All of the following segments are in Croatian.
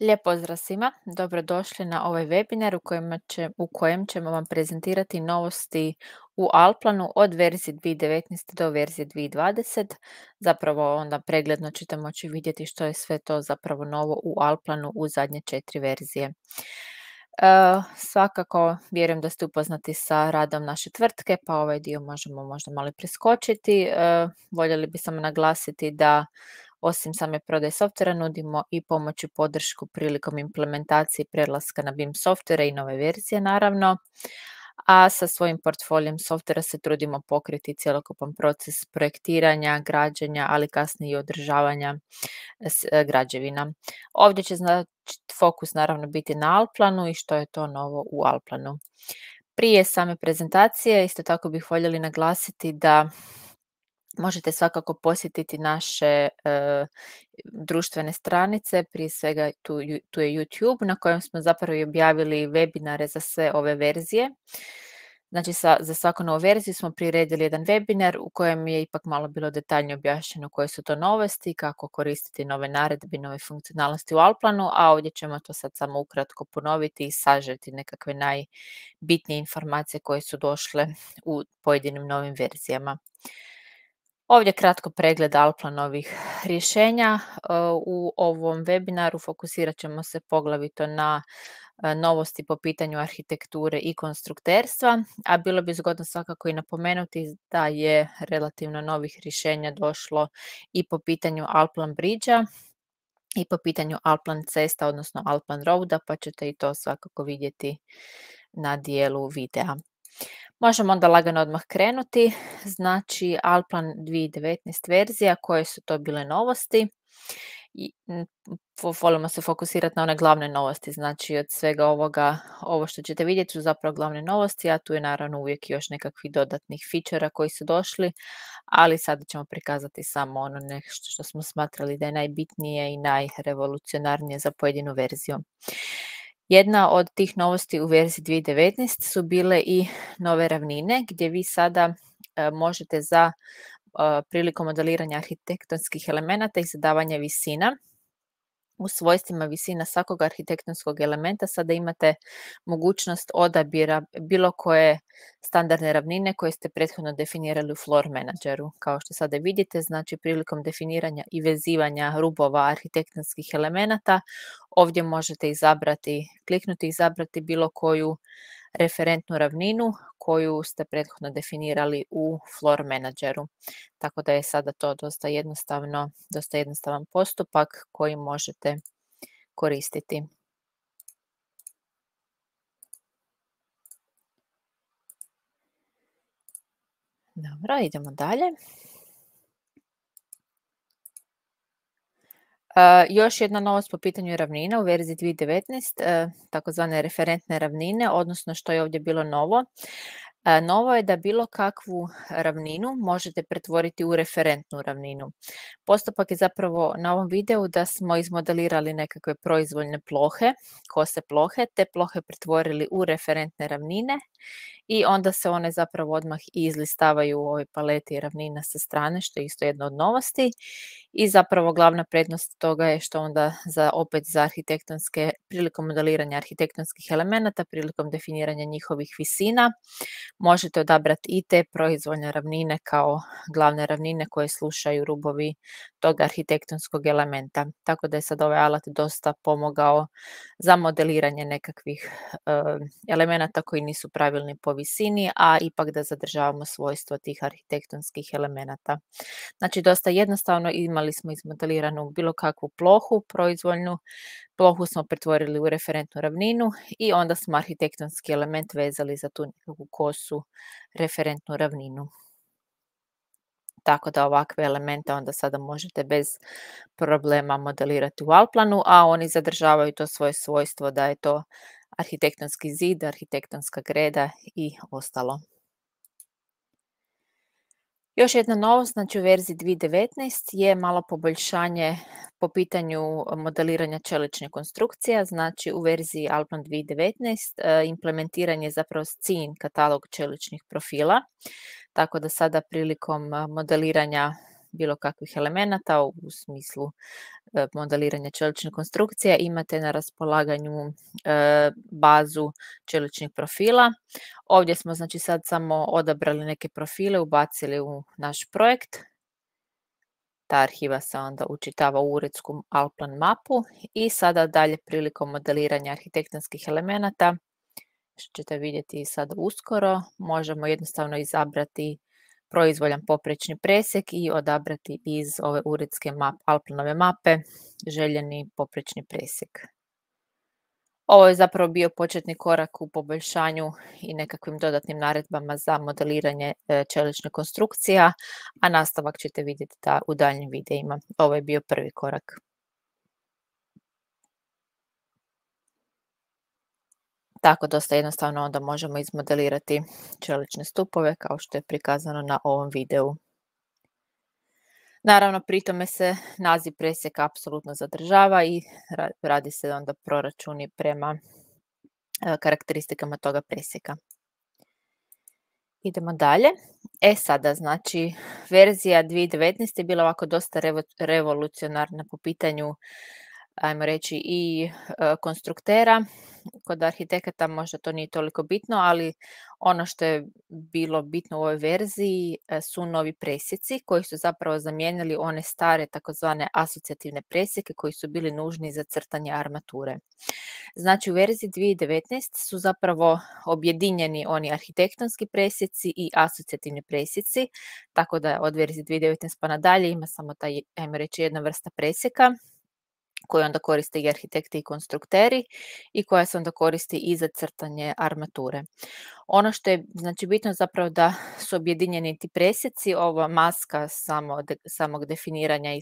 Lijep pozdrav svima, dobrodošli na ovaj webinar u kojem ćemo vam prezentirati novosti u Alplanu od verzije 2019. do verzije 2020. Zapravo onda pregledno ćete moći vidjeti što je sve to zapravo novo u Alplanu u zadnje 4 verzije. Svakako vjerujem da ste upoznati sa radom naše tvrtke, pa ovaj dio možemo možda malo preskočiti. Voljeli bi samo naglasiti da osim same prodaje softvera nudimo i pomoć i podršku prilikom implementacije prelaska na BIM softvere i nove verzije naravno, a sa svojim portfolijem softvera se trudimo pokriti cjelokupan proces projektiranja, građenja, ali kasnije i održavanja građevina. Ovdje će fokus naravno biti na Alplanu i što je to novo u Alplanu. Prije same prezentacije isto tako bih voljeli naglasiti da možete svakako posjetiti naše društvene stranice, prije svega tu je YouTube na kojem smo zapravo i objavili webinare za sve ove verzije. Znači za svaku novu verziju smo priredili jedan webinar u kojem je ipak malo bilo detaljnije objašnjeno koje su to novosti, kako koristiti nove naredbe i nove funkcionalnosti u Alplanu, a ovdje ćemo to sad samo ukratko ponoviti i sažeti nekakve najbitnije informacije koje su došle u pojedinim novim verzijama. Ovdje kratko pregled Alplanovih rješenja. U ovom webinaru fokusirat ćemo se poglavito na novosti po pitanju arhitekture i konstrukterstva, a bilo bi zgodno svakako i napomenuti da je relativno novih rješenja došlo i po pitanju Alplan Bridgea i po pitanju Alplan cesta, odnosno Alplan Roada, pa ćete i to svakako vidjeti na dijelu videa. Možemo onda lagano odmah krenuti. Znači, Alplan 2019 verzija, koje su to bile novosti? Volimo se fokusirati na one glavne novosti, znači od svega ovoga, ovo što ćete vidjeti su zapravo glavne novosti, a tu je naravno uvijek još nekakvih dodatnih fičera koji su došli, ali sada ćemo prikazati samo ono nešto što smo smatrali da je najbitnije i najrevolucionarnije za pojedinu verziju. Jedna od tih novosti u verziji 2019 su bile i nove ravnine gdje vi sada možete prilikom modeliranja arhitektonskih elemenata i zadavanja visina u svojstvima visina svakog arhitektonskog elementa sada imate mogućnost odabira bilo koje standardne ravnine koje ste prethodno definirali u Floor Manageru. Kao što sada vidite, znači prilikom definiranja i vezivanja rubova arhitektonskih elemenata, ovdje možete kliknuti i izabrati bilo koju referentnu ravninu koju ste prethodno definirali u Floor Manageru. Tako da je sada to dosta jednostavan postupak koji možete koristiti. Dobro, idemo dalje. Još jedna novost po pitanju ravnina u verziji 2019, takozvane referentne ravnine, odnosno što je ovdje bilo novo. Novo je da bilo kakvu ravninu možete pretvoriti u referentnu ravninu. Postupak je zapravo na ovom videu da smo izmodelirali nekakve proizvoljne plohe, kose plohe, te plohe pretvorili u referentne ravnine i onda se one zapravo odmah i izlistavaju u ovoj paleti ravnina sa strane, što je isto jedna od novosti. I zapravo glavna prednost toga je što onda prilikom modeliranja arhitektonskih elemenata, prilikom definiranja njihovih visina, možete odabrati i te proizvoljne ravnine kao glavne ravnine koje slušaju rubovi tog arhitektonskog elementa. Tako da je sad ovaj alat dosta pomogao za modeliranje nekakvih elemenata koji nisu pravilni po visini, a ipak da zadržavamo svojstvo tih arhitektonskih elemenata. Znači dosta jednostavno, imali smo izmodeliranu bilo kakvu plohu, proizvoljnu plohu smo pretvorili u referentnu ravninu i onda smo arhitektonski element vezali za tu nekakvu kosu referentnu ravninu. Tako da ovakve elemente onda sada možete bez problema modelirati u Alplanu, a oni zadržavaju to svoje svojstvo da je to arhitektonski zid, arhitektonska greda i ostalo. Još jedna novost, znači u verziji 2019 je malo poboljšanje po pitanju modeliranja čeličnih konstrukcija, znači u verziji Alplan 2019 implementiran je zapravo katalog čeličnih profila, tako da sada prilikom modeliranja bilo kakvih elemenata u smislu modeliranja čeličnih konstrukcija. Imate na raspolaganju bazu čeličnih profila. Ovdje smo znači sad samo odabrali neke profile, ubacili u naš projekt. Ta arhiva se onda učitava u uredsku Alplan mapu i sada dalje prilikom modeliranja arhitektonskih elemenata, što ćete vidjeti sad uskoro, možemo jednostavno izabrati proizvoljan poprečni presjek i odabrati iz ove uredske Alplanove mape željeni poprečni presjek. Ovo je zapravo bio početni korak u poboljšanju i nekakvim dodatnim naredbama za modeliranje čeličnih konstrukcija, a nastavak ćete vidjeti u daljnjim videima. Ovo je bio prvi korak. Tako dosta jednostavno onda možemo izmodelirati čelične stupove kao što je prikazano na ovom videu. Naravno, pri tome se naziv presjeka apsolutno zadržava i radi se onda proračuni prema karakteristikama toga presjeka. Idemo dalje. Sada, znači, verzija 2019 je bila ovako dosta revolucionarna po pitanju, ajmo reći, i konstruktera. Kod arhitekata možda to nije toliko bitno, ali ono što je bilo bitno u ovoj verziji su novi presjeci koji su zapravo zamijenili one stare takozvane asocijativne presjeke koji su bili nužni za crtanje armature. Znači u verziji 2019 su zapravo objedinjeni oni arhitektonski presjeci i asocijativni presjeci, tako da od verzije 2019 pa nadalje ima samo taj, ajmo reći, jedna vrsta presjeka koje onda koriste i arhitekti i konstrukteri i koja se onda koristi i za crtanje armature. Ono što je znači bitno zapravo da su objedinjeni ti presjeci, ova maska samog definiranja i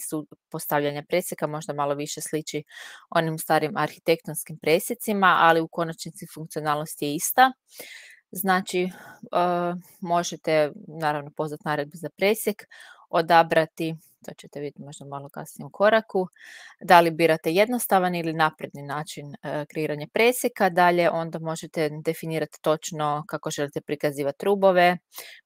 postavljanja presjeka možda malo više sliči onim starim arhitektonskim presjecima, ali u konačnici funkcionalnost je ista. Znači, možete naravno pozvati naredbu za presjek, odabrati, to ćete vidjeti možda malo kasnije u koraku, da li birate jednostavan ili napredni način kreiranja presjeka. Dalje onda možete definirati točno kako želite prikazivati rubove,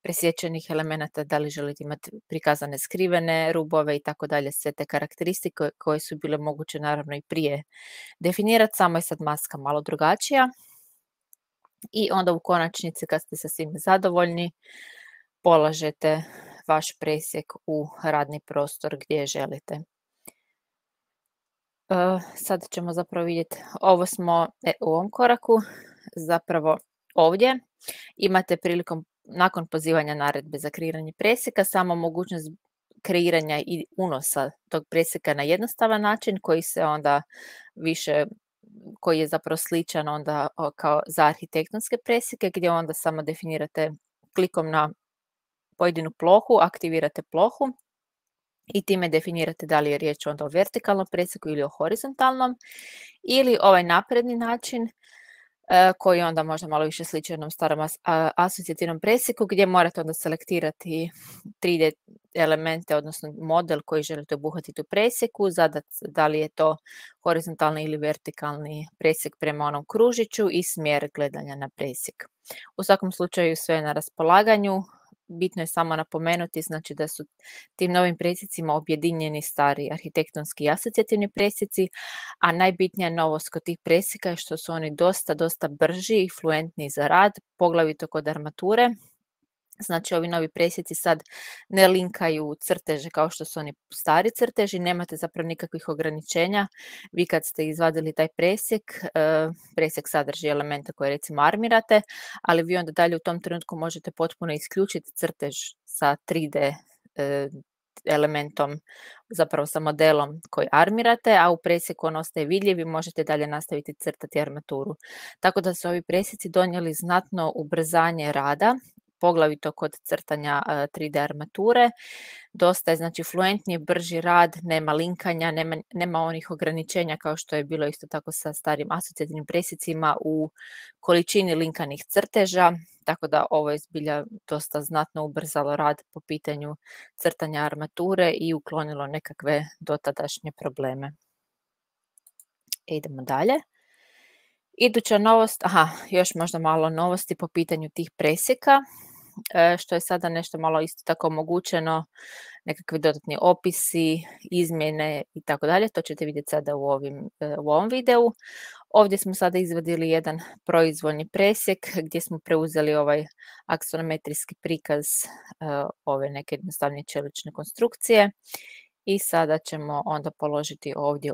presječenih elemenata, da li želite imati prikazane skrivene rubove i tako dalje, sve te karakteristike koje su bile moguće naravno i prije definirati, samo je sad maska malo drugačija. I onda u konačnici kad ste sa svim zadovoljni, polažete vaš presjek u radni prostor gdje želite. Sad ćemo zapravo vidjeti, ovo smo u ovom koraku, zapravo ovdje imate prilikom, nakon pozivanja naredbe za kreiranje presjeka, samo mogućnost kreiranja i unosa tog presjeka na jednostavan način koji se onda više, koji je zapravo sličan onda kao za arhitektonske presjeke gdje onda samo definirate klikom na pojedinu plohu, aktivirate plohu i time definirate da li je riječ onda o vertikalnom presjeku ili o horizontalnom, ili ovaj napredni način koji onda možda malo više sliči onom starom asocijativnom presjeku gdje morate onda selektirati 3D elemente, odnosno model koji želite obuhvatiti u presjeku, zadati da li je to horizontalni ili vertikalni presjek prema onom kružiću i smjer gledanja na presjek. U svakom slučaju sve je na raspolaganju. Bitno je samo napomenuti znači da su tim novim presjecima objedinjeni stari arhitektonski i asocijativni presjeci, a najbitnija novost kod tih presjeka je što su oni dosta brži i fluentni za rad, poglavito kod armature. Znači ovi novi presjeci sad ne linkaju crteže kao što su oni stari crteži, nemate zapravo nikakvih ograničenja. Vi kad ste izvadili taj presjek sadrži elemente koje recimo armirate, ali vi onda dalje u tom trenutku možete potpuno isključiti crtež sa 3D elementom, zapravo sa modelom koji armirate, a u presjeku on ostaje vidljiv i možete dalje nastaviti crtati armaturu. Tako da su ovi presjeci donijeli znatno ubrzanje rada, poglavito kod crtanja 3D armature. Dosta je znači fluentniji, brži rad, nema linkanja, nema onih ograničenja kao što je bilo isto tako sa starim asocijativnim presjecima u količini linkanih crteža, tako da ovo je zbilja dosta znatno ubrzalo rad po pitanju crtanja armature i uklonilo nekakve dotadašnje probleme. Idemo dalje. Iduća novost, još možda malo novosti po pitanju tih presjeka. što je sada nešto malo isto tako omogućeno, nekakvi dodatni opisi, izmjene i tako dalje. To ćete vidjeti sada u ovom videu. Ovdje smo sada izvadili jedan proizvoljni presjek gdje smo preuzeli ovaj aksonometrijski prikaz ove neke jednostavnije čelične konstrukcije i sada ćemo onda položiti ovdje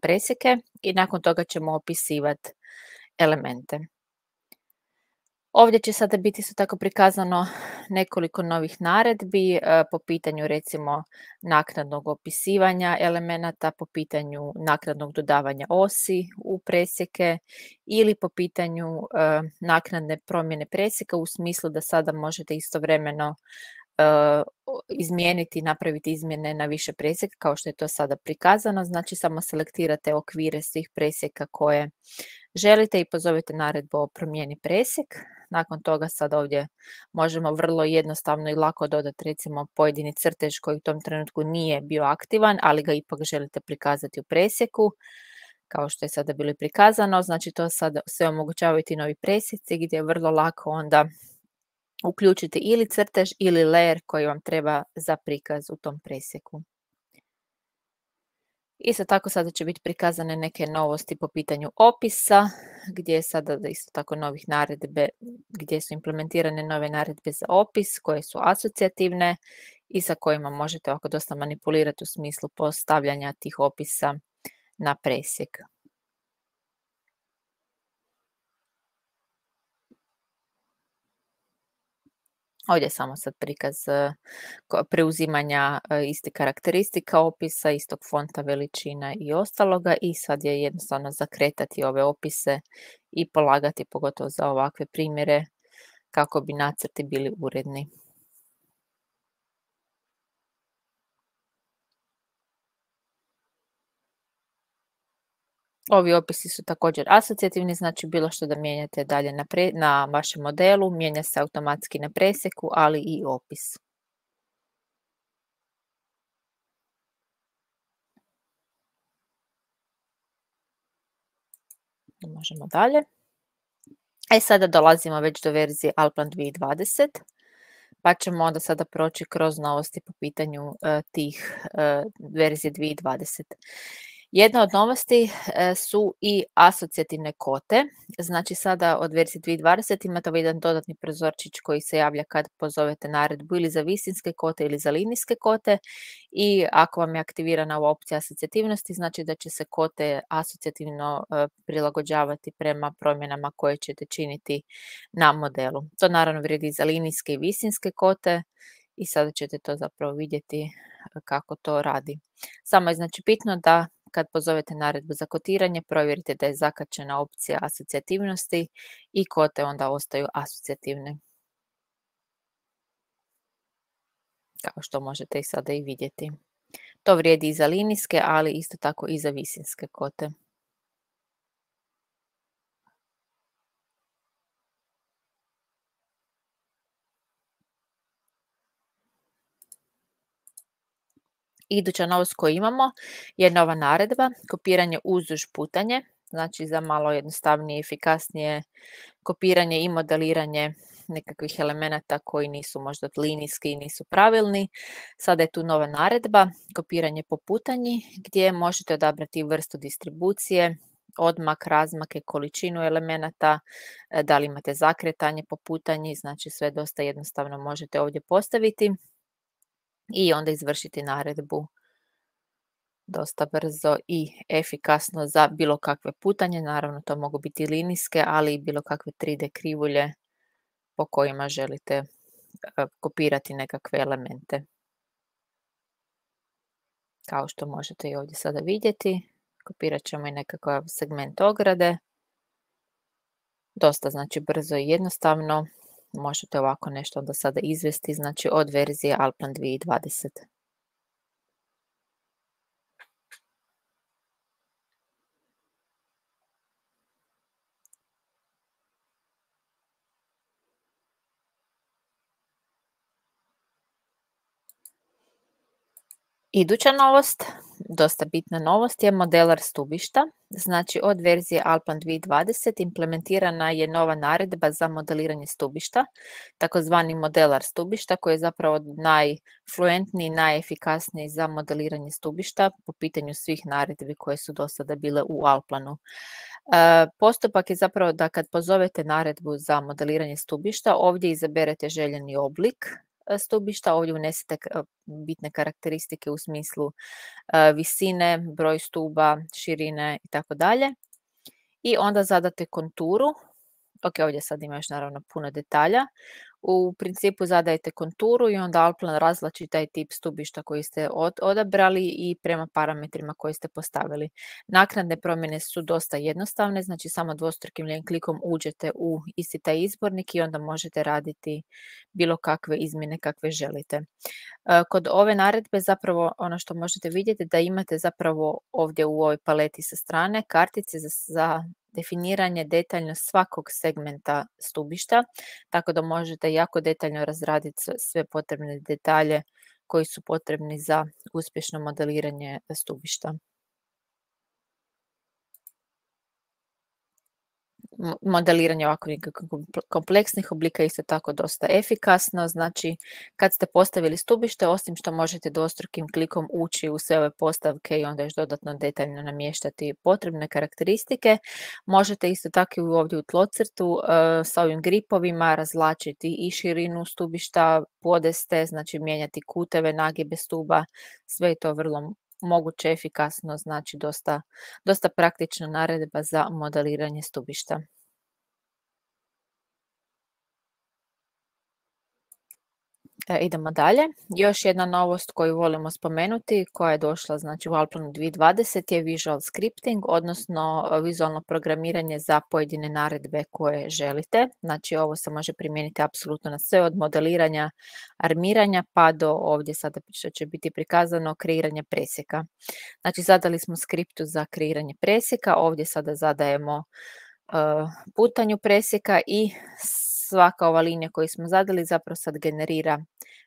presjeke i nakon toga ćemo opisivati elemente. Ovdje će sada biti isto tako prikazano nekoliko novih naredbi po pitanju recimo naknadnog opisivanja elemenata, po pitanju naknadnog dodavanja osi u presjeke ili po pitanju naknadne promjene presjeka u smislu da sada možete istovremeno izmijeniti, napraviti izmjene na više presjeka kao što je to sada prikazano. Znači samo selektirate okvire svih presjeka koje želite i pozovete naredbu o promijeni presjek. Nakon toga sad ovdje možemo vrlo jednostavno i lako dodati recimo pojedini crtež koji u tom trenutku nije bio aktivan, ali ga ipak želite prikazati u presjeku, kao što je sada bilo prikazano. Znači to sada sve omogućavaju ti novi presjeci gdje je vrlo lako onda uključiti ili crtež ili layer koji vam treba za prikaz u tom presjeku. Isto tako sada će biti prikazane neke novosti po pitanju opisa, gdje je sada isto tako novih naredbe, gdje su implementirane nove naredbe za opis koje su asocijativne i sa kojima možete ovako dosta manipulirati u smislu postavljanja tih opisa na presjek. Ovdje je samo sad prikaz preuzimanja istih karakteristika opisa, istog fonta, veličina i ostaloga i sad je jednostavno zakretati ove opise i polagati, pogotovo za ovakve primjere, kako bi nacrti bili uredni. Ovi opisi su također asocijativni, znači bilo što da mijenjate dalje na vašem modelu, mijenja se automatski na presjeku, ali i opis. Možemo dalje. Sada dolazimo već do verzije Alplan 2020, pa ćemo onda sada proći kroz novosti po pitanju tih verzije 2020. Jedna od novosti su i asocijativne kote. Znači sada od verzije 2020 imate ovaj jedan dodatni prozorčić koji se javlja kad pozovete naredbu ili za visinske kote ili za linijske kote i ako vam je aktivirana ova opcija asocijativnosti, znači da će se kote asocijativno prilagođavati prema promjenama koje ćete činiti na modelu. To naravno vrijedi za linijske i visinske kote i sada ćete to zapravo vidjeti kako to radi. Samo je znači bitno da kad pozovete naredbu za kotiranje, provjerite da je zakačena opcija asocijativnosti i kote onda ostaju asocijativne. Kao što možete i sada i vidjeti. To vrijedi i za linijske, ali isto tako i za visinske kote. Iduća novost koju imamo je nova naredba, kopiranje uzduž putanje, znači za malo jednostavnije i efikasnije kopiranje i modeliranje nekakvih elemenata koji nisu možda linijski i nisu pravilni. Sada je tu nova naredba, kopiranje po putanji, gdje možete odabrati vrstu distribucije, odmak, razmake, količinu elemenata, da li imate zakretanje po putanji, znači sve dosta jednostavno možete ovdje postaviti i onda izvršiti naredbu dosta brzo i efikasno za bilo kakve putanje. Naravno, to mogu biti linijske, ali i bilo kakve 3D krivulje po kojima želite kopirati nekakve elemente. Kao što možete i ovdje sada vidjeti, kopirat ćemo i nekakav segment ograde. Dosta znači brzo i jednostavno. Možete ovako nešto onda sada izvesti, znači od verzije Alplan 2020. Iduća novost dosta bitna novost je modelar stubišta. Znači od verzije Alplan 2020 implementirana je nova naredba za modeliranje stubišta, takozvani modelar stubišta koji je zapravo najfluentniji, najefikasniji za modeliranje stubišta po pitanju svih naredbi koje su do sada bile u Alplanu. Postupak je zapravo da kad pozovete naredbu za modeliranje stubišta, ovdje izaberete željeni oblik stubišta, ovdje unesete bitne karakteristike u smislu visine, broj stuba, širine i tako dalje. I onda zadate konturu. Ok, ovdje sad ima još naravno puno detalja. U principu zadajete konturu i onda Alplan razvlači taj tip stubišta koji ste odabrali i prema parametrima koje ste postavili. Naknadne promjene su dosta jednostavne, znači samo dvostrukim lijevim klikom uđete u isti taj izbornik i onda možete raditi bilo kakve izmjene kakve želite. Kod ove naredbe zapravo ono što možete vidjeti da imate zapravo ovdje u ovoj paleti sa strane kartice za definiranje detaljno svakog segmenta stubišta, tako da možete jako detaljno razraditi sve potrebne detalje koji su potrebni za uspješno modeliranje stubišta. Modeliranje ovako kompleksnih oblika je isto tako dosta efikasno, znači kad ste postavili stubište, osim što možete dvostrukim klikom ući u sve ove postavke i onda još dodatno detaljno namještati potrebne karakteristike, možete isto tako i ovdje u tlocrtu s ovim gripovima razvlačiti i širinu stubišta, podeste, znači mijenjati kuteve, nagibe stuba, sve je to vrlo moguće, efikasno, znači dosta praktična naredba za modeliranje stubišta. Idemo dalje. Još jedna novost koju volimo spomenuti, koja je došla znači u Alplanu 2020 je visual scripting, odnosno vizualno programiranje za pojedine naredbe koje želite. Znači ovo se može primijeniti apsolutno na sve od modeliranja, armiranja pa do ovdje sada što će biti prikazano kreiranje presjeka. Znači zadali smo skriptu za kreiranje presjeka, ovdje sada zadajemo putanju presjeka i svaka ova linija koju smo zadali zapravo sad generira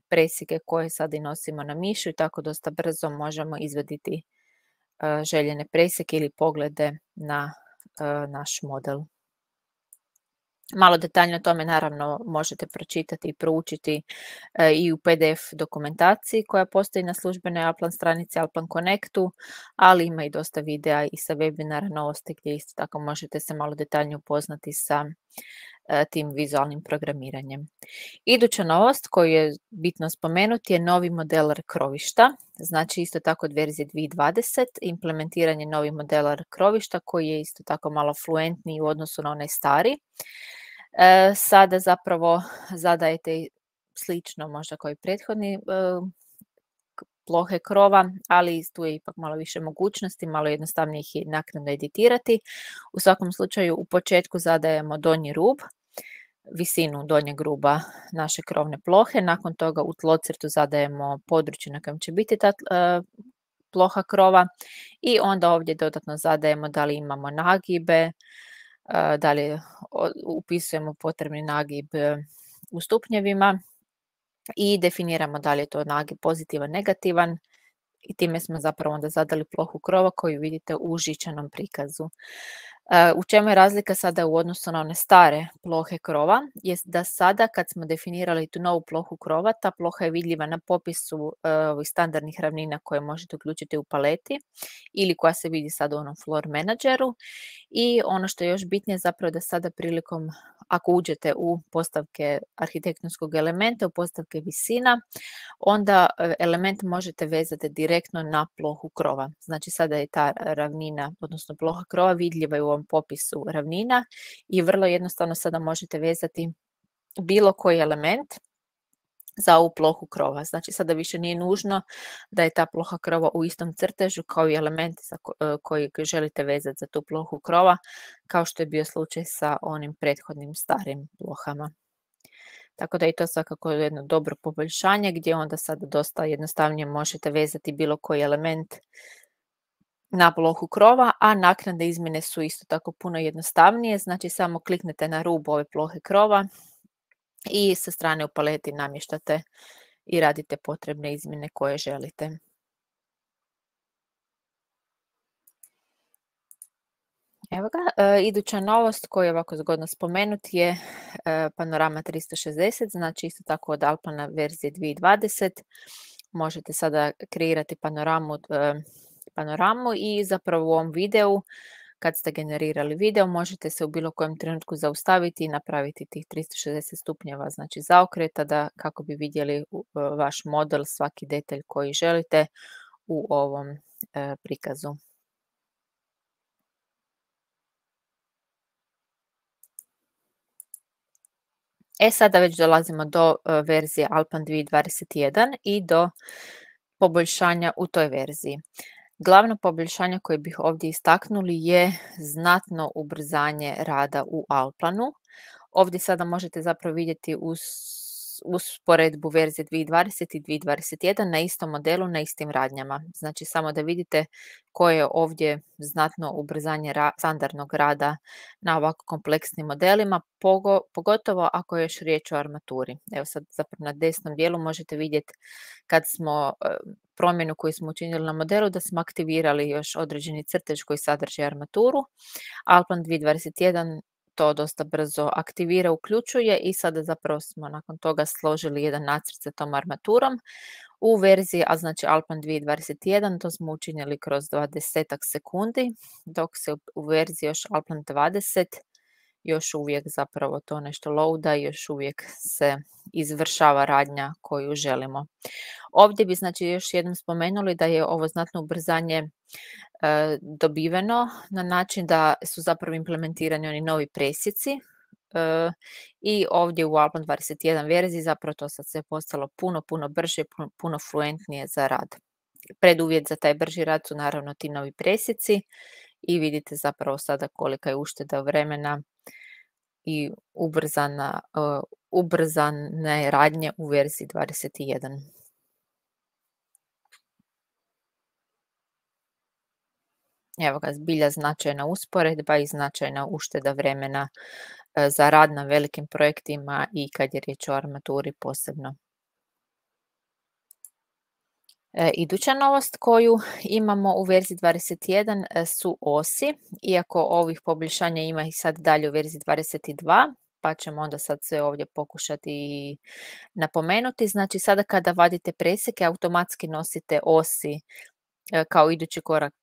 presjeke koje sad i nosimo na mišu i tako dosta brzo možemo izvaditi željene presjeke ili poglede na naš model. Malo detaljno o tome naravno možete pročitati i proučiti i u PDF dokumentaciji koja postoji na službenoj Alplan stranici Alplan Connectu, ali ima i dosta videa i sa webinara novosti gdje isto tako možete se malo detaljnije upoznati sa tim vizualnim programiranjem. Iduća novost koju je bitno spomenuti je novi modelar krovišta, znači isto tako od verzije 2020 implementiranje novi modelar krovišta koji je isto tako malo fluentniji u odnosu na onaj stari. Sada zapravo zadajete slično možda kao i prethodni plohe krova, ali tu je ipak malo više mogućnosti, malo jednostavnije ih je naknadno editirati. U svakom slučaju u početku zadajemo donji rub, visinu donjeg ruba naše krovne plohe, nakon toga u tlocrtu zadajemo područje na kojem će biti ta ploha krova i onda ovdje dodatno zadajemo da li imamo nagibe, da li upisujemo potrebni nagib u stupnjevima i definiramo da li je to nagib pozitivan, negativan i time smo zapravo onda zadali plohu krova koju vidite u žičanom prikazu. U čemu je razlika sada u odnosu na one stare plohe krova? Jest da sada kad smo definirali tu novu plohu krova, ta ploha je vidljiva na popisu ovih standardnih ravnina koje možete uključiti u paleti ili koja se vidi sad u onom floor menadžeru. I ono što je još bitnije zapravo da sada prilikom, ako uđete u postavke arhitektonskog elementa, u postavke visina, onda element možete vezati direktno na plohu krova. Znači sada je ta ravnina, odnosno ploha krova vidljiva u ovom popisu ravnina i vrlo jednostavno sada možete vezati bilo koji element za ovu plohu krova. Znači sada više nije nužno da je ta ploha krova u istom crtežu kao i element koji želite vezati za tu plohu krova, kao što je bio slučaj sa onim prethodnim starim plohama. Tako da je to svakako jedno dobro poboljšanje gdje onda sad dosta jednostavnije možete vezati bilo koji element na plohu krova, a naknadne izmjene su isto tako puno jednostavnije, znači samo kliknete na rub ove plohe krova i sa strane u paleti namještate i radite potrebne izmjene koje želite. Evo ga, iduća novost koju je ovako zgodno spomenuti je Panorama 360, znači isto tako od Alplana verzije 2020. Možete sada kreirati panoramu i zapravo u ovom videu, kad ste generirali video, možete se u bilo kojem trenutku zaustaviti i napraviti tih 360 stupnjeva, znači zaokreta kako bi vidjeli vaš model, svaki detalj koji želite u ovom prikazu. Sada već dolazimo do verzije Alpan 2021 i do poboljšanja u toj verziji. Glavno poboljšanje koje bih ovdje istaknuli je znatno ubrzanje rada u Alplanu. Ovdje sada možete zapravo vidjeti usporedbu verzije 2020 i 2021 na istom modelu, na istim radnjama. Znači samo da vidite koje je ovdje znatno ubrzanje standardnog rada na ovako kompleksnim modelima, pogotovo ako je još riječ o armaturi. Evo sad zapravo na desnom dijelu možete vidjeti kad smo promjenu koju smo učinili na modelu da smo aktivirali još određeni crtež koji sadrži armaturu. Alplan 2021 to dosta brzo aktivira, uključuje i sada zapravo smo nakon toga složili jedan nacrt sa tom armaturom. U verziji, a znači Alpan 2021, to smo učinili kroz 20 sekundi, dok se u verziji još Alpan 20 još uvijek zapravo to nešto loada i još uvijek se izvršava radnja koju želimo. Ovdje bi znači još jednom spomenuli da je ovo znatno ubrzanje dobiveno na način da su zapravo implementirani oni novi presjeci i ovdje u Alpan 21 verziji zapravo to sad sve postalo puno brže, puno fluentnije za rad. Preduvjet za taj brži rad su naravno ti novi presjeci i vidite zapravo sada kolika je ušteda vremena i ubrzane radnje u verziji 21. Evo ga, zbilja značajna usporedba i značajna ušteda vremena za rad na velikim projektima i kad je riječ o armaturi posebno. Iduća novost koju imamo u verziji 21 su osi, iako ovih poboljšanja ima i sad dalje u verziji 22, pa ćemo onda sad sve ovdje pokušati napomenuti. Znači sada kada vadite presjeke, automatski nosite osi kao idući korak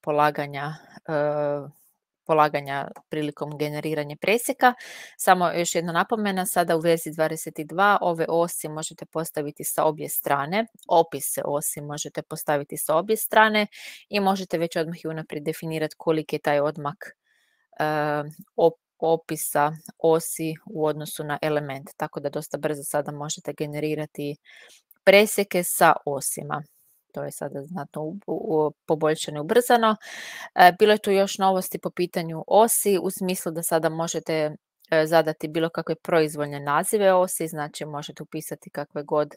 polaganja prilikom generiranja presjeka. Samo još jedna napomena, sada u verziji 22 ove osi možete postaviti sa obje strane, opise osi možete postaviti sa obje strane i možete već odmah i unaprijed definirati koliki je taj odmak opisa osi u odnosu na element, tako da dosta brzo sada možete generirati presjeke sa osima. To je sada znatno poboljšano i ubrzano. Bilo je tu još novosti po pitanju osi u smislu da sada možete zadati bilo kakve proizvoljne nazive osi, znači možete upisati kakve god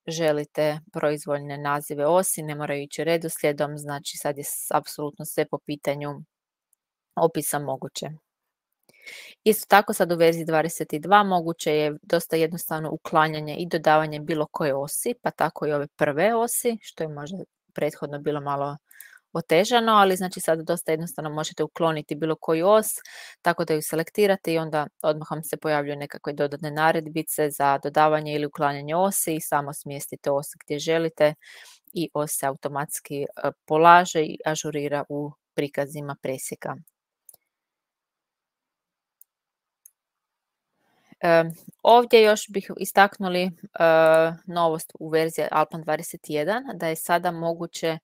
želite proizvoljne nazive osi, ne moraju ići redoslijedom, znači sad je apsolutno sve po pitanju opisa moguće. Isto tako sad u verziji 22 moguće je dosta jednostavno uklanjanje i dodavanje bilo koje osi, pa tako i ove prve osi, što je možda prethodno bilo malo otežano, ali znači sad dosta jednostavno možete ukloniti bilo koju os, tako da ju selektirate i onda odmah vam se pojavljuju nekakve dodatne naredbice za dodavanje ili uklanjanje osi i samo smjestite os gdje želite i os se automatski polaže i ažurira u prikazima presjeka. Ovdje još bih istaknuli novost u verziji Alpan 21, da je sada moguće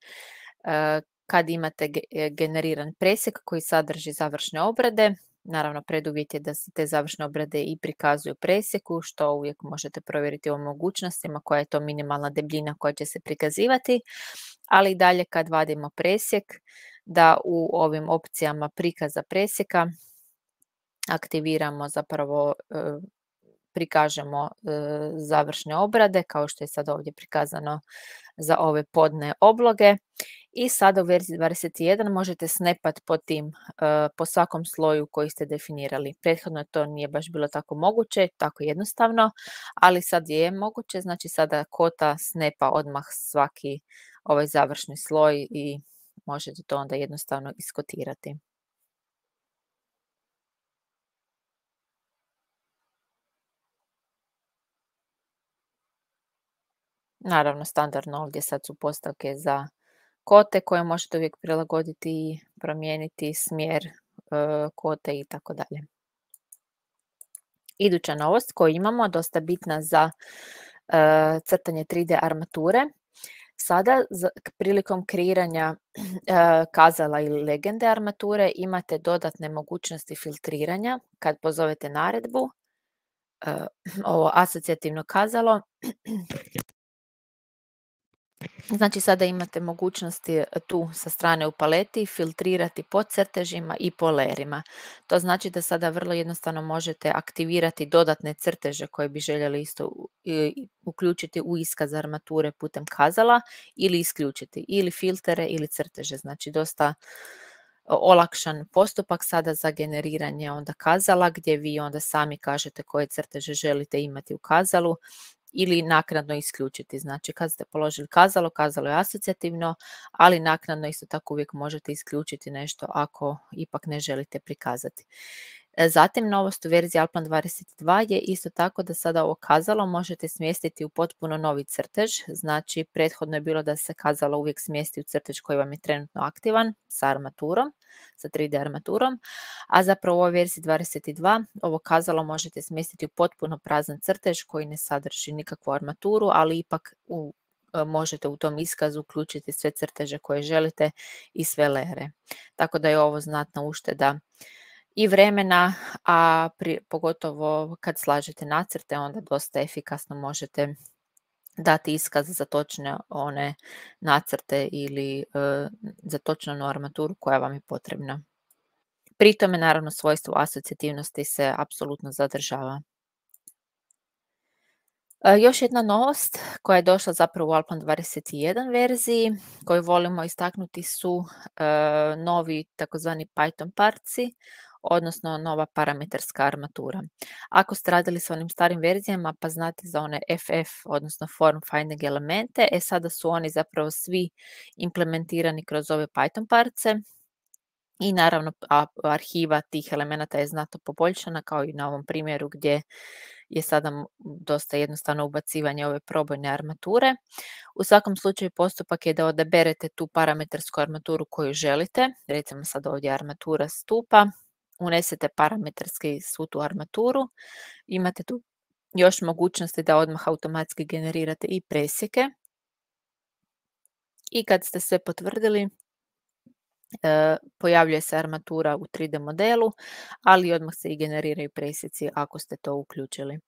kad imate generiran presjek koji sadrži završne obrade, naravno preduvjet je da se te završne obrade i prikazuju presjeku, što uvijek možete provjeriti o mogućnostima, koja je to minimalna debljina koja će se prikazivati, ali i dalje kad vadimo presjek, da u ovim opcijama prikaza presjeka aktiviramo zapravo, prikažemo završne obrade kao što je sad ovdje prikazano za ove podne obloge i sada u verziji 21 možete snapat po svakom sloju koji ste definirali. Prethodno to nije baš bilo tako moguće, tako jednostavno, ali sad je moguće, znači sada kota snapa odmah svaki ovaj završni sloj i možete to onda jednostavno iskotirati. Naravno, standardno ovdje sad su postavke za kote koje možete uvijek prilagoditi i promijeniti smjer kote i tako dalje. Iduća novost koju imamo, dosta bitna za crtanje 3D armature. Sada prilikom kreiranja kazala ili legende armature imate dodatne mogućnosti filtriranja kad pozovete naredbu, ovo asocijativno kazalo. Znači sada imate mogućnosti tu sa strane u paleti filtrirati po crtežima i po lerima. To znači da sada vrlo jednostavno možete aktivirati dodatne crteže koje bi željeli isto uključiti u iskaz armature putem kazala ili isključiti ili filtere ili crteže. Znači dosta olakšan postupak sada za generiranje onda kazala gdje vi onda sami kažete koje crteže želite imati u kazalu ili naknadno isključiti. Znači kad ste položili kazalo, kazalo je asocijativno, ali naknadno isto tako uvijek možete isključiti nešto ako ipak ne želite prikazati. Zatim novost u verziji Alplan 22 je isto tako da sada ovo kazalo možete smjestiti u potpuno novi crtež. Znači prethodno je bilo da se kazalo uvijek smjesti u crtež koji vam je trenutno aktivan sa armaturom, sa 3D armaturom, a zapravo u ovoj verziji 22 ovo kazalo možete smjestiti u potpuno prazan crtež koji ne sadrži nikakvu armaturu, ali ipak možete u tom iskazu uključiti sve crteže koje želite i sve lere. Tako da je ovo znatna ušteda i vremena, a pogotovo kad slažete nacrte onda dosta efikasno možete dati iskaz za točne one nacrte ili za točnu onu armaturu koja vam je potrebna. Pri tome naravno svojstvo asocijativnosti se apsolutno zadržava. Još jedna novost koja je došla zapravo u Alplan 21 verziji koju volimo istaknuti su novi takozvani Python parci, odnosno nova parametarska armatura. Ako ste radili s onim starim verzijama pa znate za one FF, odnosno form finding elemente, sada su oni zapravo svi implementirani kroz ove Python parce i naravno arhiva tih elemenata je znatno poboljšana kao i na ovom primjeru gdje je sada dosta jednostavno ubacivanje ove probojne armature. U svakom slučaju postupak je da odaberete tu parametarsku armaturu koju želite, recimo sad ovdje armatura stupa, unesete parametarski svu tu armaturu, imate tu još mogućnosti da odmah automatski generirate i presjeke i kad ste sve potvrdili pojavljuje se armatura u 3D modelu, ali odmah se i generiraju presjeci ako ste to uključili.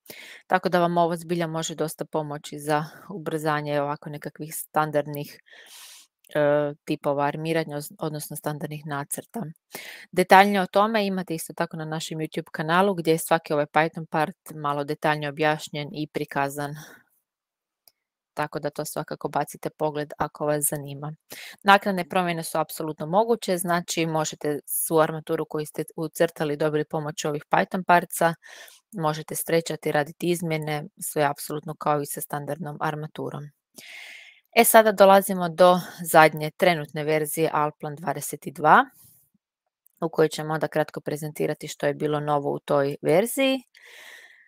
Tako da vam ovo zbilja može dosta pomoći za ubrzanje ovako nekakvih standardnih tipova armiranja, odnosno standardnih nacrta. Detaljnije o tome imate isto tako na našem YouTube kanalu gdje je svaki ovaj Python part malo detaljnije objašnjen i prikazan. Tako da to svakako bacite pogled ako vas zanima. Naknadne promjene su apsolutno moguće, znači možete svu armaturu koju ste ucrtali dobili pomoću ovih Python parca, možete strečati, raditi izmjene, sve apsolutno kao i sa standardnom armaturom. Sada dolazimo do zadnje trenutne verzije Alplan 22 u kojoj ćemo onda kratko prezentirati što je bilo novo u toj verziji.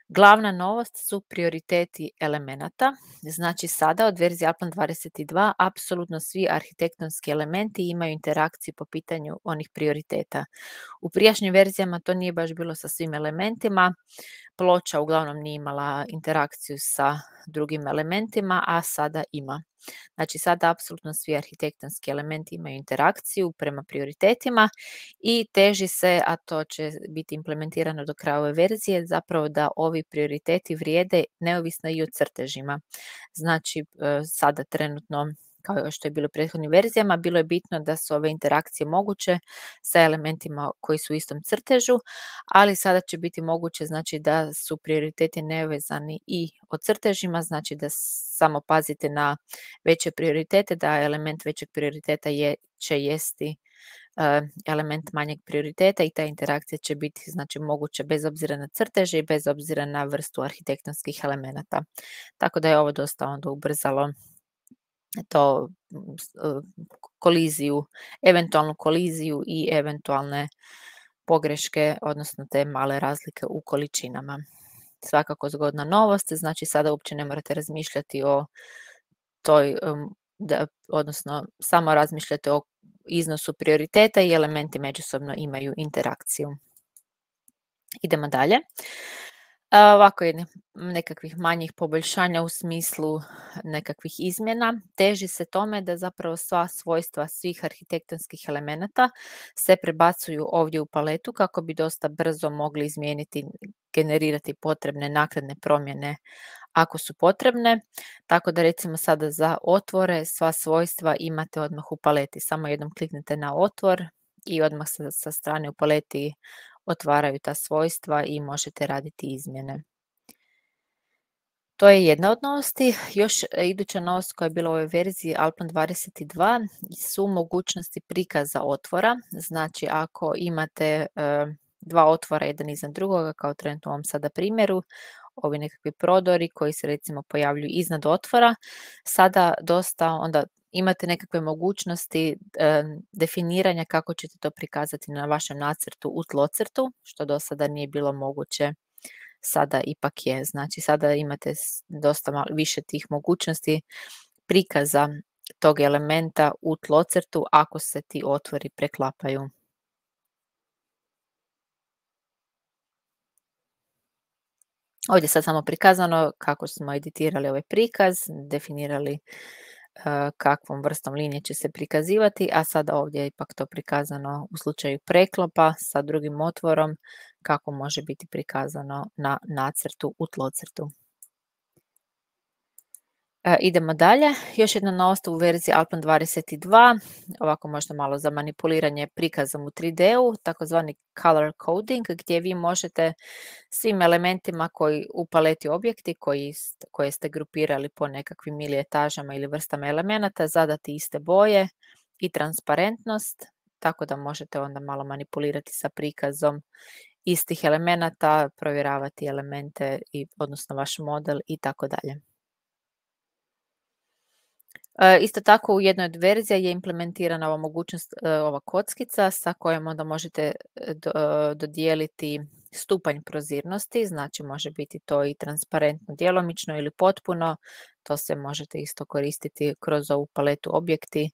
Glavna novost su prioriteti elemenata, znači sada od verzije Alplan 22 apsolutno svi arhitektonski elementi imaju interakciju po pitanju onih prioriteta. U prijašnjim verzijama to nije baš bilo sa svim elementima, ploča uglavnom nije imala interakciju sa drugim elementima, a sada ima. Znači sada apsolutno svi arhitektonski elementi imaju interakciju prema prioritetima i teži se, a to će biti implementirano do kraja ove verzije, zapravo da ovi prioriteti vrijede neovisno i o crtežima. Znači sada trenutno kao što je bilo u prethodnim verzijama, bilo je bitno da su ove interakcije moguće sa elementima koji su u istom crtežu, ali sada će biti moguće znači da su prioriteti nevezani i o crtežima, znači da samo pazite na veće prioritete, da element većeg prioriteta će jesti element manjeg prioriteta i ta interakcija će biti znači moguća bez obzira na crteže i bez obzira na vrstu arhitektonskih elemenata. Tako da je ovo dosta onda ubrzalo to koliziju, eventualnu koliziju i eventualne pogreške, odnosno te male razlike u količinama. Svakako zgodna novost, znači sada uopće ne morate razmišljati o toj, odnosno samo razmišljate o iznosu prioriteta i elementi međusobno imaju interakciju. Idemo dalje. Ovako nekakvih manjih poboljšanja u smislu nekakvih izmjena. Teži se tome da zapravo sva svojstva svih arhitektonskih elemenata se prebacuju ovdje u paletu kako bi dosta brzo mogli izmijeniti, generirati potrebne naknadne promjene ako su potrebne. Tako da recimo sada za otvore sva svojstva imate odmah u paleti. Samo jednom kliknete na otvor i odmah sa strane u paleti otvaraju ta svojstva i možete raditi izmjene. To je jedna od novosti. Još iduća novost koja je bila u ovoj verziji Alpine 22 su mogućnosti prikaza otvora. Znači ako imate dva otvora jedan iznad drugoga, kao trenutno u ovom sada primjeru, ovi nekakvi prodori koji se recimo pojavljuju iznad otvora, sada dosta onda imate nekakve mogućnosti definiranja kako ćete to prikazati na vašem nacrtu u tlocrtu, što do sada nije bilo moguće, sada ipak je. Znači sada imate dosta više tih mogućnosti prikaza tog elementa u tlocrtu ako se ti otvori preklapaju. Ovdje je sad samo prikazano kako smo editirali ovaj prikaz, definirali kakvom vrstom linije će se prikazivati, a sada ovdje je ipak to prikazano u slučaju preklopa sa drugim otvorom kako može biti prikazano na nacrtu u tlocrtu. Idemo dalje. Još jedna novost u verziji Alpine 22, ovako možda malo za manipuliranje prikazom u 3D-u, takozvani color coding, gdje vi možete svim elementima koji u paleti objekti koje ste grupirali po nekakvim ili etažama ili vrstama elemenata zadati iste boje i transparentnost, tako da možete onda malo manipulirati sa prikazom istih elemenata, provjeravati elemente odnosno vaš model i tako dalje. Isto tako u jednoj od verzija je implementirana ova mogućnost, ova kockica sa kojom onda možete dodijeliti stupanj prozirnosti, znači može biti to i transparentno djelomično ili potpuno, to se možete isto koristiti kroz ovu paletu objekti,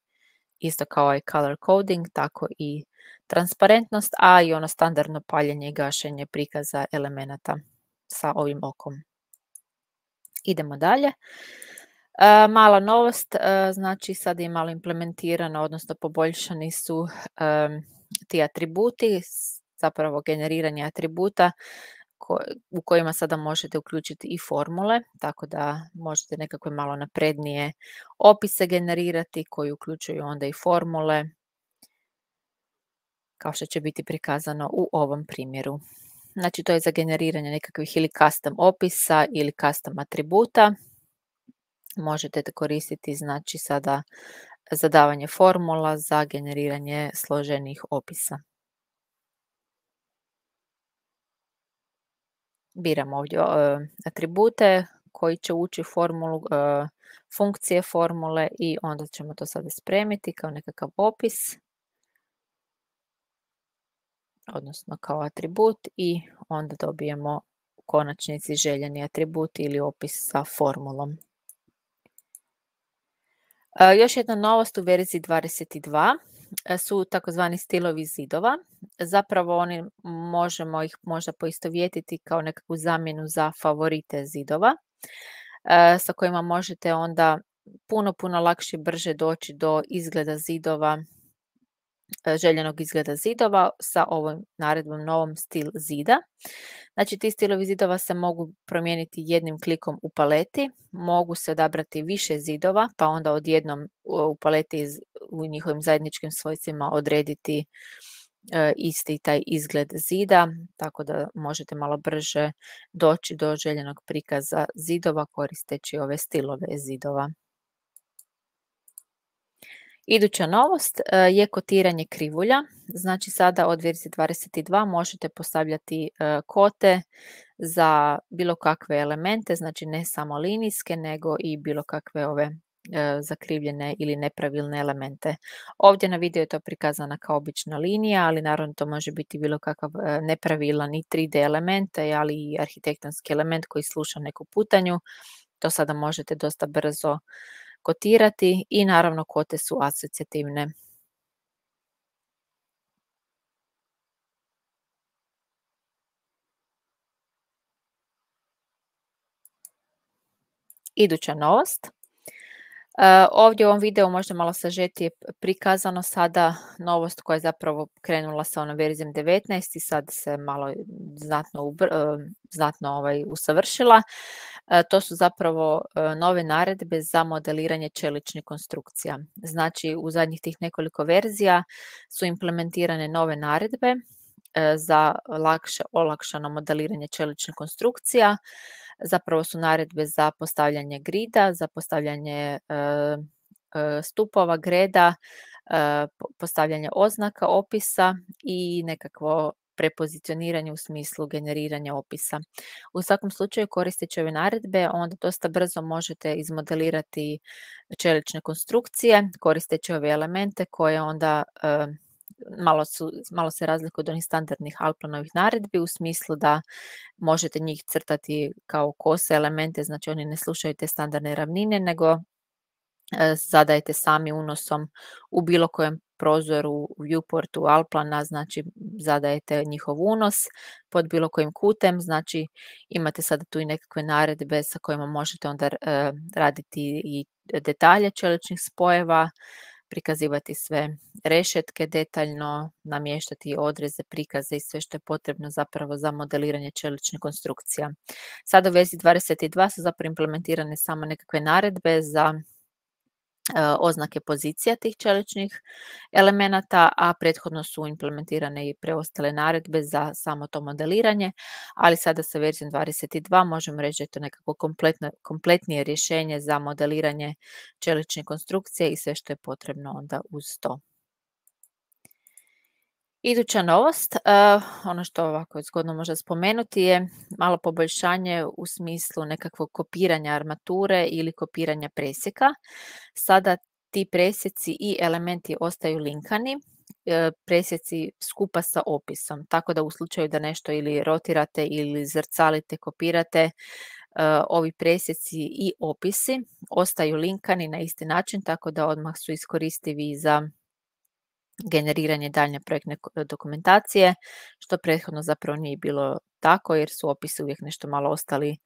isto kao i color coding, tako i transparentnost, a i ono standardno paljenje i gašenje prikaza elemenata sa ovim okom. Idemo dalje. Mala novost, znači sad je malo implementirano, odnosno poboljšani su ti atributi, zapravo generiranje atributa u kojima sada možete uključiti i formule, tako da možete nekakve malo naprednije opise generirati koji uključuju onda i formule, kao što će biti prikazano u ovom primjeru. Znači to je za generiranje nekakvih ili custom opisa ili custom atributa. Možete koristiti znači sada zadavanje formula za generiranje složenih opisa. Biramo ovdje atribute koji će ući u formulu, funkcije formule i onda ćemo to sada spremiti kao nekakav opis, odnosno kao atribut i onda dobijemo u konačnici željeni atribut ili opis sa formulom. Još jedna novost u verziji 22 su takozvani stilovi zidova. Zapravo oni možemo ih možda poistovjetiti kao nekakvu zamjenu za favorite zidova sa kojima možete onda puno lakše i brže doći do izgleda zidova, željenog izgleda zidova sa ovom naredbom novom stil zida. Znači ti stilovi zidova se mogu promijeniti jednim klikom u paleti, mogu se odabrati više zidova pa onda odjednom u paleti u njihovim zajedničkim svojstvima odrediti isti taj izgled zida, tako da možete malo brže doći do željenog prikaza zidova koristeći ove stilove zidova. Iduća novost je kotiranje krivulja, znači sada od verzije 22 možete postavljati kote za bilo kakve elemente, znači ne samo linijske nego i bilo kakve ove zakrivljene ili nepravilne elemente. Ovdje na videu je to prikazana kao obična linija, ali naravno to može biti bilo kakav nepravilan i 3D element, ali i arhitektonski element koji sluša neku putanju. To sada možete dosta brzo kotirati i naravno kvote su asocijativne. Iduća novost. Ovdje u ovom videu možda malo sažetije prikazano sada novost koja je zapravo krenula sa onom verzijom 19 i sad se malo znatno usavršila. To su zapravo nove naredbe za modeliranje čeličnih konstrukcija. Znači u zadnjih tih nekoliko verzija su implementirane nove naredbe za olakšano modeliranje čeličnih konstrukcija. Zapravo su naredbe za postavljanje grida, za postavljanje stupova, greda, postavljanje oznaka, opisa i nekakvo prepozicioniranje u smislu generiranja opisa. U svakom slučaju koristeći ove naredbe onda dosta brzo možete izmodelirati čelične konstrukcije koristeći ove elemente koje onda malo se razlikuju od onih standardnih Alplanovih naredbi u smislu da možete njih crtati kao kose elemente, znači oni ne slušaju te standardne ravnine, nego zadajete sami unosom u bilo kojem prozoru, viewportu Alplana, znači zadajete njihov unos pod bilo kojim kutem, znači imate sada tu i nekakve naredbe sa kojima možete onda raditi i detalje čeličnih spojeva, prikazivati sve rešetke detaljno, namještati odreze, prikaze i sve što je potrebno zapravo za modeliranje čeličnih konstrukcija. Sada u verziji 22 su zapravo implementirane samo nekakve naredbe za oznake pozicija tih čeličnih elemenata, a prethodno su implementirane i preostale naredbe za samo to modeliranje, ali sada sa verzijom 22 možemo reći da je to nekako kompletnije rješenje za modeliranje čeličnih konstrukcija i sve što je potrebno onda uz to. Iduća novost, ono što ovako je zgodno možda spomenuti je malo poboljšanje u smislu nekakvog kopiranja armature ili kopiranja presjeka. Sada ti presjeci i elementi ostaju linkani, presjeci skupa sa opisom, tako da u slučaju da nešto ili rotirate ili zrcalite, kopirate, ovi presjeci i opisi ostaju linkani na isti način, tako da odmah su iskoristivi za generiranje daljnje projektne dokumentacije, što prethodno zapravo nije bilo tako jer su opisi uvijek nešto malo ostali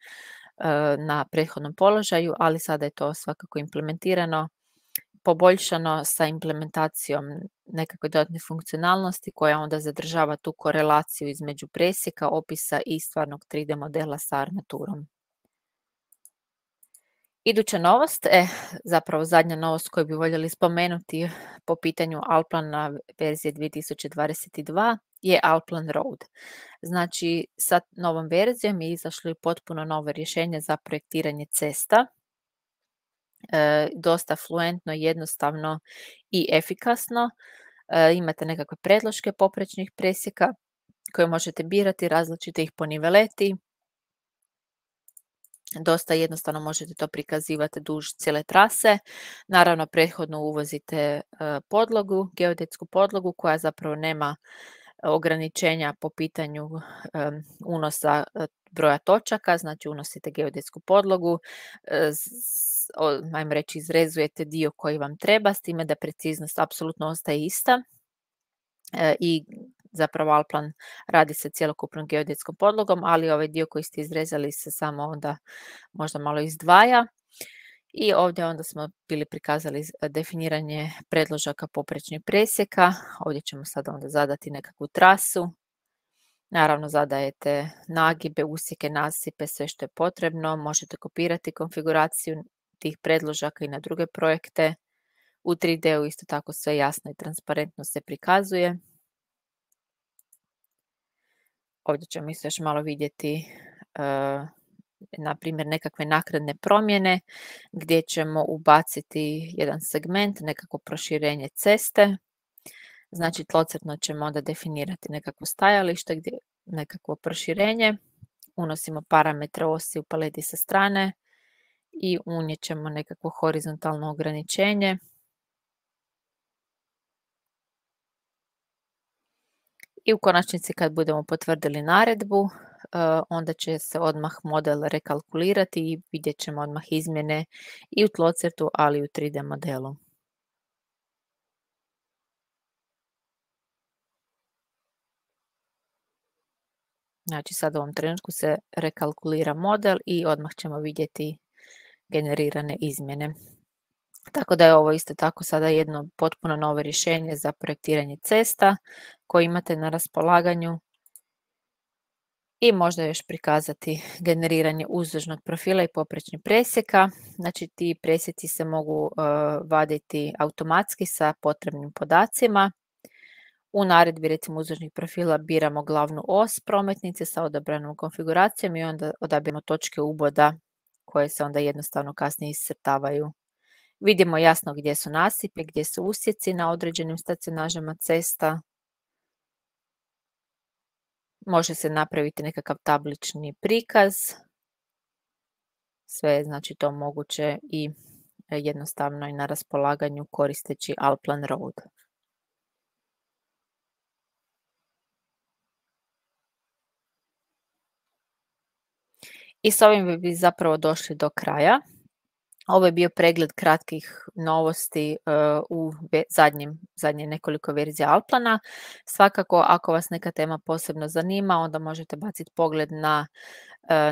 na prethodnom položaju, ali sada je to svakako implementirano, poboljšano sa implementacijom nekakve dodatne funkcionalnosti koja onda zadržava tu korelaciju između presjeka, opisa i stvarnog 3D modela sa armaturom. Iduća novost, zapravo zadnja novost koju bi voljeli spomenuti po pitanju Alplana verzije 2022 je Alplan Road. Znači, sa novom verzijom je izašlo i potpuno novo rješenje za projektiranje cesta. Dosta fluentno, jednostavno i efikasno. Imate nekakve predloške poprečnih presjeka koje možete birati, različite ih po niveleti. Dosta jednostavno možete to prikazivati duž cijele trase. Naravno, prethodno uvozite podlogu, geodetsku podlogu koja zapravo nema ograničenja po pitanju unosa broja točaka, znači unosite geodetsku podlogu, ajmo reći izrezujete dio koji vam treba, s time da preciznost apsolutno ostaje ista i zapravo Alplan radi sa cjelokupnom geodetskom podlogom, ali ovaj dio koji ste izrezali se samo onda možda malo izdvaja. I ovdje onda smo bili prikazali definiranje predložaka poprečnih presjeka. Ovdje ćemo sad onda zadati nekakvu trasu. Naravno zadajete nagibe, usjeke, nasipe, sve što je potrebno. Možete kopirati konfiguraciju tih predložaka i na druge projekte. U 3D-u isto tako sve jasno i transparentno se prikazuje. Ovdje ćemo isto još malo vidjeti na primjer nekakve naknadne promjene gdje ćemo ubaciti jedan segment, nekako proširenje ceste. Znači tlocrtno ćemo onda definirati nekakvo stajalište, gdje nekakvo proširenje. Unosimo parametre osi u paleti sa strane i unijet ćemo nekakvo horizontalno ograničenje. I u konačnici kad budemo potvrdili naredbu, onda će se odmah model rekalkulirati i vidjet ćemo odmah izmjene i u tlocrtu, ali i u 3D modelu. Znači sad u ovom trenutku se rekalkulira model i odmah ćemo vidjeti generirane izmjene. Tako da je ovo isto tako sada jedno potpuno novo rješenje za projektiranje cesta koje imate na raspolaganju. I možda još prikazati generiranje uzdužnog profila i poprečnih presjeka. Znači ti presjeci se mogu vaditi automatski sa potrebnim podacima. U naredbi recimo uzdužnih profila biramo glavnu os prometnice sa odabranom konfiguracijom i onda odabiramo točke uboda koje se onda jednostavno kasnije iscrtavaju. Vidimo jasno gdje su nasipe, gdje su usjeci na određenim stacionažama cesta. Može se napraviti nekakav tablični prikaz. Sve je znači to moguće i jednostavno i na raspolaganju koristeći Alplan Road. I s ovim bi zapravo došli do kraja. Ovo je bio pregled kratkih novosti u zadnje nekoliko verzija Alplana. Svakako, ako vas neka tema posebno zanima, onda možete baciti pogled na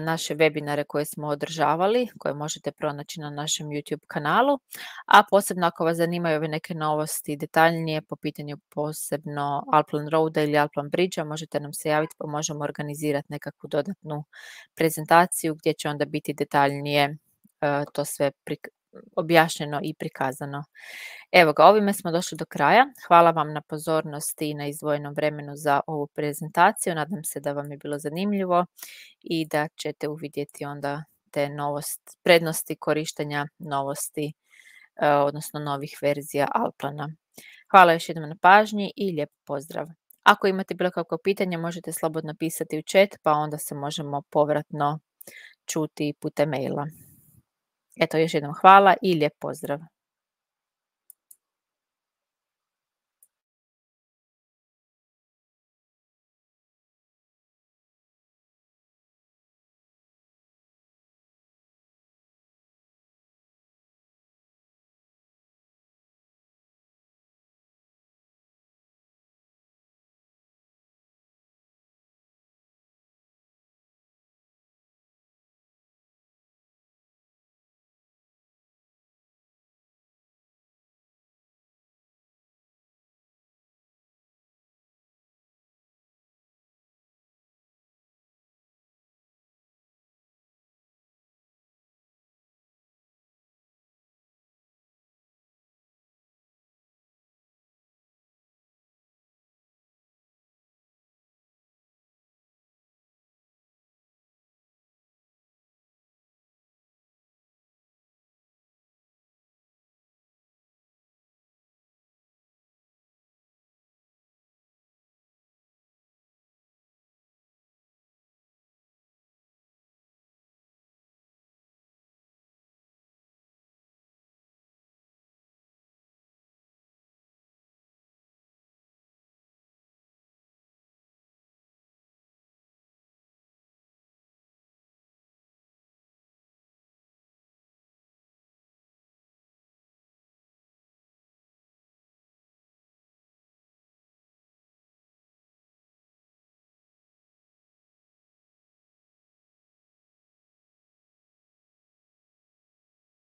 naše webinare koje smo održavali, koje možete pronaći na našem YouTube kanalu. A posebno ako vas zanimaju ove neke novosti detaljnije po pitanju posebno Alplan Roada ili Alplan Bridgea, možete nam se javiti pa možemo organizirati nekakvu dodatnu prezentaciju gdje će onda biti detaljnije to sve objašnjeno i prikazano. Evo ga, ovime smo došli do kraja. Hvala vam na pozornosti i na izdvojenom vremenu za ovu prezentaciju. Nadam se da vam je bilo zanimljivo i da ćete uvidjeti onda te prednosti korištenja novosti, odnosno novih verzija Alplana. Hvala još jednom na pažnji i lijep pozdrav. Ako imate bilo kakvo pitanje, možete slobodno pisati u chat, pa onda se možemo povratno čuti putem maila. Eto, još jednom hvala i lijep pozdrav.